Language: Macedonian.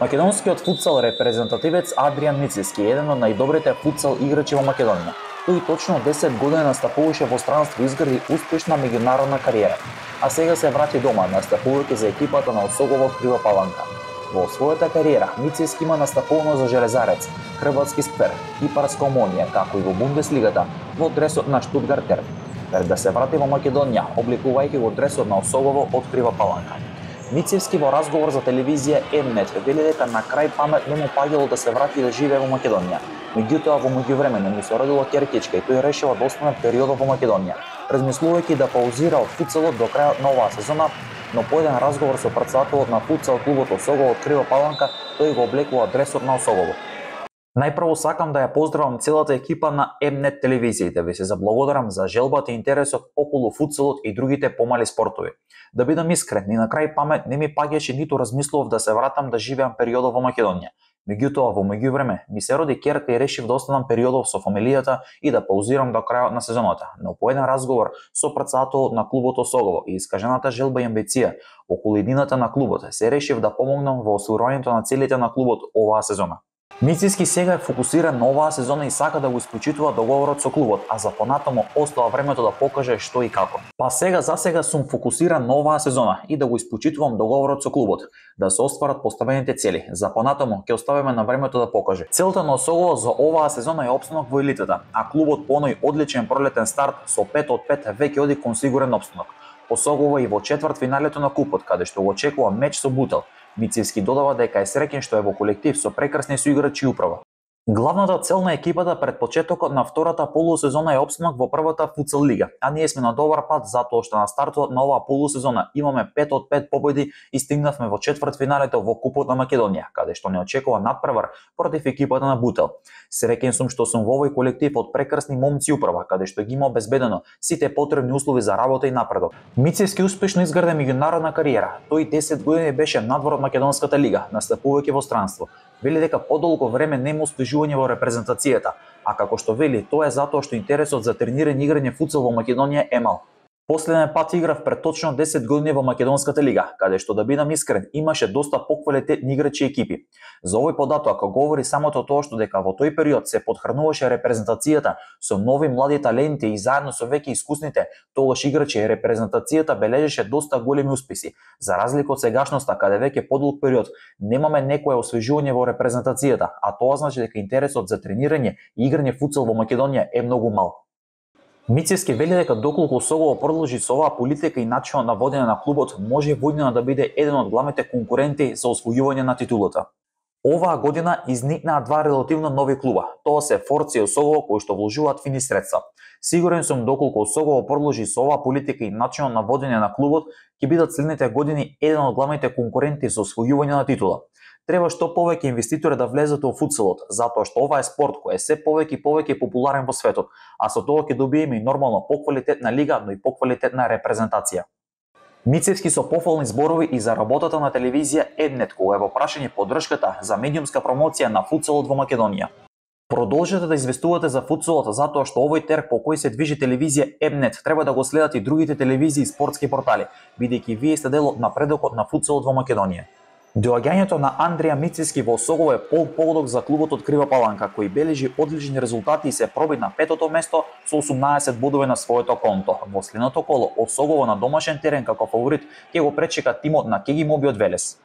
Македонскиот футсал репрезентативец Адриан Мицевски е еден од најдобрите футсал играчи во Македонија. Тој точно 10 години настапуваше во странство и изгради успешна меѓународна кариера, а сега се врати дома, настапувајќи за екипата на Осогово Крива Паланка. Во својата кариера Мицевски има настапувано за Железарец, Хрватски Сквер, Кипарска Омонија, како и во Бундеслигата во дресот на Штутгартер. Пред да се врати во Македонија, обликувајќи го дресот на Осогово од Крива Паланка. Мицевски во разговор за телевизија М-нет вели дека на крај памет не му паѓало да се врати да живее во Македонија. Меѓутоа во меѓувреме му се родила ќеркичка и тој решила да остане периодот во Македонија, размислувајќи да паузира од футсалот до крајот на оваа сезона, но по еден разговор со претседателот на футсал клубот Осогово од Крива Паланка, тој го облекува дресот на Осогово. Најпрво сакам да ја поздравам целата екипа на М-нет телевизиите, ви се заблагодарам за желбата и интересот околу футсалот и другите помали спортови. Да бидам искрен, ни на крај памет не ми паѓаше ниту размислував да се вратам да живеам периодот во Македонија. Меѓутоа во меѓувреме ми се роди ќерка и решив да останам периодов со фамилијата и да паузирам до крајот на сезоната. Но по еден разговор со претседателот на клубот Осогово и искажената желба и амбиција околу иднината на клубот, се решив да помогнам во остварувањето на целите на клубот оваа сезона. Мицевски сега е фокусиран на оваа сезона и сака да го испочитува договорот со клубот, а за понатаму остава времето да покаже што и како. Па сега за сега сум фокусиран на оваа сезона и да го испочитувам договорот со клубот, да се остварат поставените цели. За понатаму ќе оставиме на времето да покаже. Целта на Осогово за оваа сезона е опстанок во елитата, а клубот по оној одличен пролетен старт со 5 од 5 веќе оди кон сигурен опстанок. Осогово и во четвртфиналето на купот, каде што го очекува меч со Бутел. Мицевски додава дека е среќен што е во колектив со прекрасни соиграчи и управа. Главната цел на екипата пред почетокот на втората полусезона е опстанок во првата футсал лига, а ние сме на добар пат затоа што на стартот на оваа полусезона имаме 5 од 5 победи и стигнавме во четвртфиналето во Купот на Македонија, каде што не очекува надпревар против екипата на Бутел. Среќен сум што сум во овој колектив од прекрасни момци управа, каде што ги има обезбедено сите потребни услови за работа и напредок. Мицевски успешно изгради меѓународна кариера. Тој 10 години беше надвор од македонската лига, настапувајќи во странство. Вели дека подолго време нема успежување во репрезентацијата, а како што вели, тоа е затоа што интересот за тренирање и играње футсал во Македонија е мал. Последен пат играв пред точно 10 години во македонската лига, каде што да бидам искрен, имаше доста поквалитетни играчи и екипи. За овој податок говори самото тоа што дека во тој период се потхрануваше репрезентацијата со нови млади таленти и заедно со веќе искусните тогаш играчи репрезентацијата бележеше доста големи успеси. За разлика од сегашноста, каде веќе подолг период немаме некое освежување во репрезентацијата, а тоа значи дека интересот за тренирање и играње футсал во Македонија е многу мал. Мицевски вели дека доколку Осогово продолжи со оваа политика и начинот на водење на клубот, може војдина да биде еден од главните конкуренти за освојување на титулата. Оваа година изникнаа два релативно нови клуба. Тоа се Форца и Осогово кои што вложуваат фини средства. Сигурен сум доколку Осогово продолжи со оваа политика и начинот на водење на клубот, ќе бидат следните години еден од главните конкуренти за освојување на титула. Треба што повеќе инвеститори да влезат во футсалот, затоа што ова е спорт кој е се повеќе и повеќе популарен во светот, а со тоа ќе добиеме и нормално поквалитетна лига, но и поквалитетна репрезентација. Мицевски со пофални зборови и за работата на телевизија М-нет, кога е во прашање поддршката за медиумска промоција на футсалот во Македонија. Продолжете да известувате за футсалот затоа што овој терк по кој се движи телевизија М-нет треба да го следат и другите телевизии и спортски портали, бидејќи вие сте дел од напредокот на футсалот во Македонија. Доаѓањето на Андриан Мицевски во Осогово е поводок за клубот од Крива Паланка, кој бележи одлични резултати и се проби на 5-то место со 18 бодови на своето конто. Во следното коло, Осогово на домашен терен како фаворит ќе го пречека тимот на Кеги Моби од Велес.